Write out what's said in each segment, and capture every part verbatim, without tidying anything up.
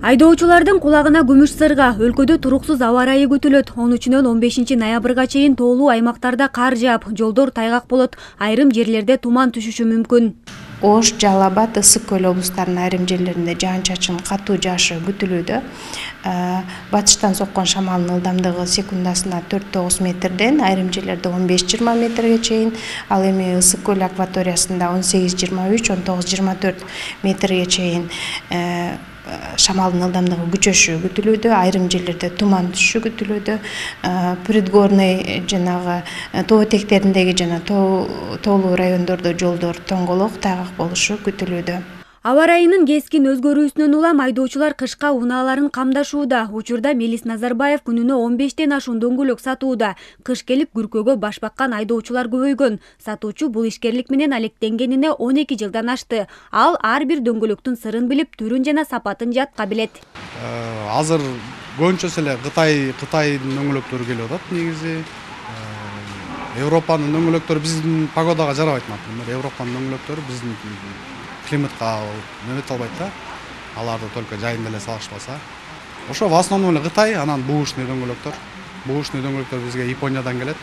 Айдоочулардын кулагына күмүш сырга. Өлкөдө туруксуз аба ырайы күтүлөт. он үчүнөн он бешинчи ноябрга чейин тоолуу аймактарда кар жаап, жолдор тайгак болот. Айрым жерлерде туман түшүшү мүмкүн. Ош, Жалал Абад, Ысык көл облустарынын айрым жерлеринде жаан-чачын катуу жаашы күтүлүүдө. Батыштан соккон шамалдын ылдамдыгы секундасына төрт тогуз метрден, айрым жерлерде он беш жыйырма метрге чейин, ал эми Ысык көл акваториясында он сегиз жыйырма үч, он тогуз жыйырма төрт метрге чейин шамалдын ылдамдыгы күчөшү күтүлүүдө, айрым жерлерде туман түшүшү күтүлүүдө. Предгорный жанагы тоо этектериндеги жана тоолуу райондордо жолдор тоңголок, тайгак болушу күтүлүүдө. Аба ырайынын кескин өзгөрүүсүнөн улам айдоочулар кышка унааларын камдашууда. Учурда Мелис Назарбаев күнүнө он бештен ашуун дөңгөлөк сатууда. Кыш келип күркөгө баш баккан айдоочулар көбөйгөн. Сатуучу бул ишкерлик менен алектенгенине он эки жылдан ашты. Ал ар бир дөңгөлөктүн сырын билип, түрүн жана сапатын жатка билет. Азыр көбүнчөсү эле Кытай Кытайдын дөңгөлөктөрү келип атат негизи. Европанын дөңгөлөктөрү биздин погодага жарабайт. Европанын дөңгөлөктөрү биздин климатка нөмөт албайт да. Аларды только жайында эле салышпаса. Ошо в основном эле Кытай, анан буушный дөңгөлөктөр. Буушный дөңгөлөктөр бизге Япониядан келет.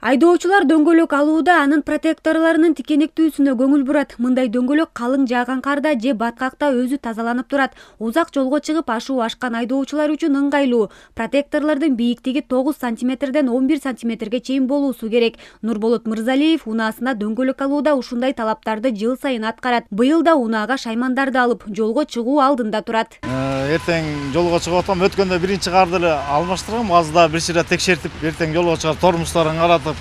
Айдоочулар дөңгөлөк алууда анын протекторлорунун тикенектүүсүнө көңүл бурат. Мындай дөңгөлөк калың жааган карда же баткакта өзү тазаланып турат. Узак жолго чыгып ашуу ашкан айдоочулар үчүн ыңгайлуу. Протекторлордун бийиктиги тогуз сантиметрден он бир сантиметрге чейин болуусу керек. Нурболот Мырзалиев унаасына дөңгөлөк алууда ушундай талаптарды жыл сайын аткарат. Быйыл да унаага шаймандарды алып, жолго чыгуу алдында турат. Эртең жолго чыгып атам, өткөндө биринчи карды эле алмаштыргам, азыр да бир чыра текшертип, эртең жолго чыгар тормуздарын каратып,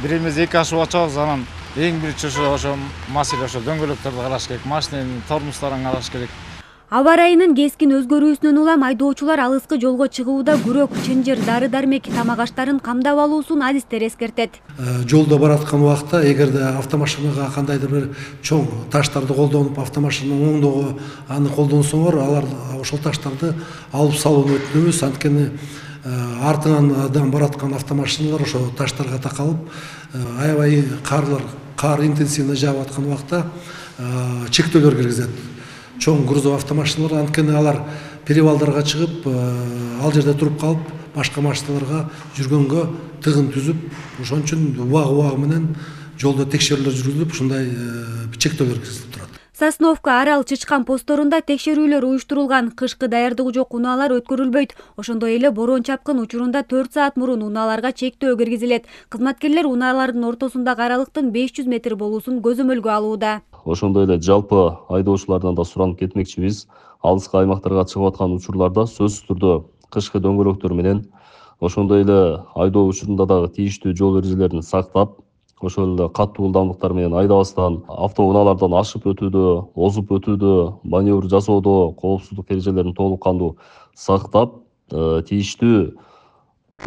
бир эмес эки ашып ачабыз. Анан эң биринчи ошо ошо маселе ошо дөңгөлөктөрдү караш керек, машинанын тормуздарын караш керек. Аба ырайынын кескин өзгөрүүсүнөн улам айдоочулар алыскы жолго чыгууда күрөк, чынжыр, дары-дармек, тамак аштарын камдап алуусун адистер эскертет. Жолдо бараткан убакта эгерде автомашинага кандайдыр бир чоң таштарды колдонуп, автомашинанын оңдоого аны колдонсоңор, алар ошол таштарды алып салууну өтүнөбүз. Анткени артыңан бараткан автомашиналар ошо таштарга такалып, аябай карлар, кар интенсивно жаап аткан убакта чектөөлөр киргизет. Чоң грузовый автомашиналар, анткени алар перевалдарга чыгып, ал жерде туруп калып, башка машиналарга жүргөнгө тыгын түзүп, ошон үчүн убагы-убагы менен жолдо текшерүүлөр жүргүзүлүп, ушундай чектөөлөр киргизилип турат. Сосновка, Арал, Чычкан посторунда текшерүүлөр уюштурулган. Кышкы даярдыгы жок унаалар өткөрүлбөйт. Ошондой эле борон чапкын учурунда төрт саат мурун унааларга чектөө киргизилет. Кызматкерлер унаалардын ортосундагы аралыктын беш жүз метр болуусун көзөмөлгө алууда. Ошондой эле жалпы айдоочулардан да суранып кетмекчибиз. Алыскы аймактарга чыгып аткан учурларда сөзсүз түрдө кышкы дөңгөлөктөр менен, ошондой эле айдоо учурунда дагы тийиштүү жол эрежелерин сактап, ошол эле катуу ылдамдыктар менен айдабастан, автоунаалардан ашып өтүүдө, озуп өтүүдө, маневр жасоодо коопсуздук эрежелерин толук кандуу сактап, тийиштүү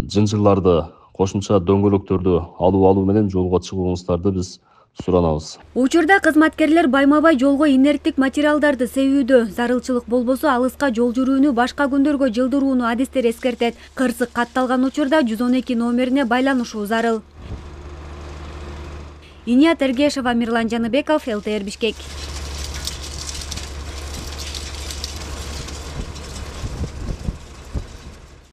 жынжырларды, кошумча дөңгөлөктөрдү алуу алуу менен жолго чыгууңуздарды биз суранабыз. Учурда кызматкерлер байма-бай жолго инерттик материалдарды себүүдө. Зарылчылык болбосо алыска жол жүрүүнү башка күндөргө жылдырууну адистер эскертет. Кырсык катталган учурда жүз он эки номерине байланышуу зарыл. Иният Эргешова, Мирлан Жаныбеков, эл тэ эр Бишкек.